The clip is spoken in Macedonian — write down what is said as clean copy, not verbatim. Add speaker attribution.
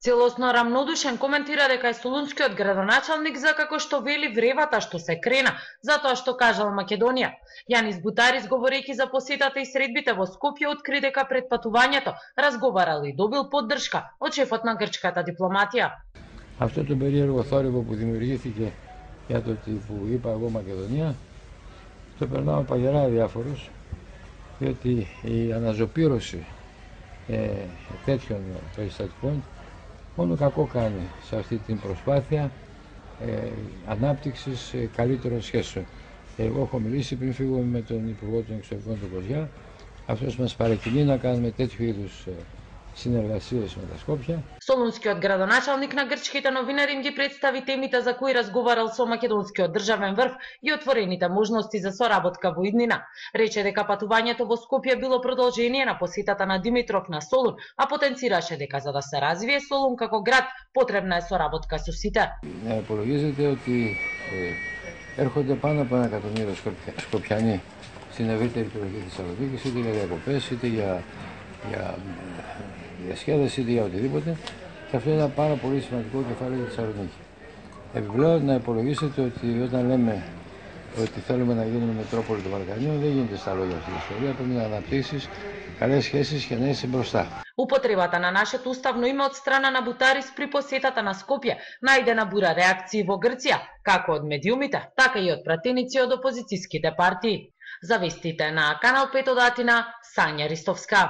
Speaker 1: Целосно рамнодушен коментира дека е солунскиот градоначалник за како што вели вревата што се крена, затоа што кажал Македонија. Јанис Бутарис, говорејќи за посетата и средбите во Скопје, откри дека пред патувањето разговарал и добил поддршка од шефот на грчката дипломатија.
Speaker 2: Αυτό το περίεργο θόρυβο που δημιουργήθηκε για το ότι που είπα εγώ Μακεδονία, το περνάω παγερά αδιάφορος, διότι η αναζωπήρωση τέτοιων περιστατικών μόνο κακό κάνει σε αυτή την προσπάθεια ανάπτυξης καλύτερων σχέσεων. Εγώ έχω μιλήσει πριν φύγουμε με τον Υπουργό των Εξωτερικών του Κοζιά, αυτός μας παρακινεί να κάνουμε τέτοιου είδους συνεργασίες με τα Σκόπια.
Speaker 1: Солунскиот градоначалник на грчките новинари им ги представи темите за кои разговарал со македонскиот државен врв и отворените можности за соработка во иднина. Рече дека патувањето во Скопје било продолжение на посетата на Димитров на Солун, а потенцираше дека за да се развие Солун како град потребна е соработка со сите.
Speaker 2: Υπολογίζεται ότι έρχονται πάνω από 1 εκατομμύριο Σκοπιανοί στην ευρύτερη περιοχή της Θεσσαλονίκης, είτε για διακοπές, είτε για διασκέδαση, είτε για οτιδήποτε. Και αυτό είναι ένα πάρα πολύ σημαντικό κεφάλαιο για τη Θεσσαλονίκη. Επιπλέον, να υπολογίσετε ότι όταν λέμε ότι θέλουμε να γίνουμε μετρόπολη των Βαλκανίων, δεν γίνεται στα λόγια αυτή η ιστορία. Πρέπει να αναπτύξεις καλές σχέσεις και να είσαι μπροστά.
Speaker 1: Употребата на нашето уставно име од страна на Бутарис при посетата на Скопје најде на бура реакции во Грција, како од медиумите, така и од пратеници од опозицијските партии. За вестите на Канал 5 од Атина, Сања Ристовска.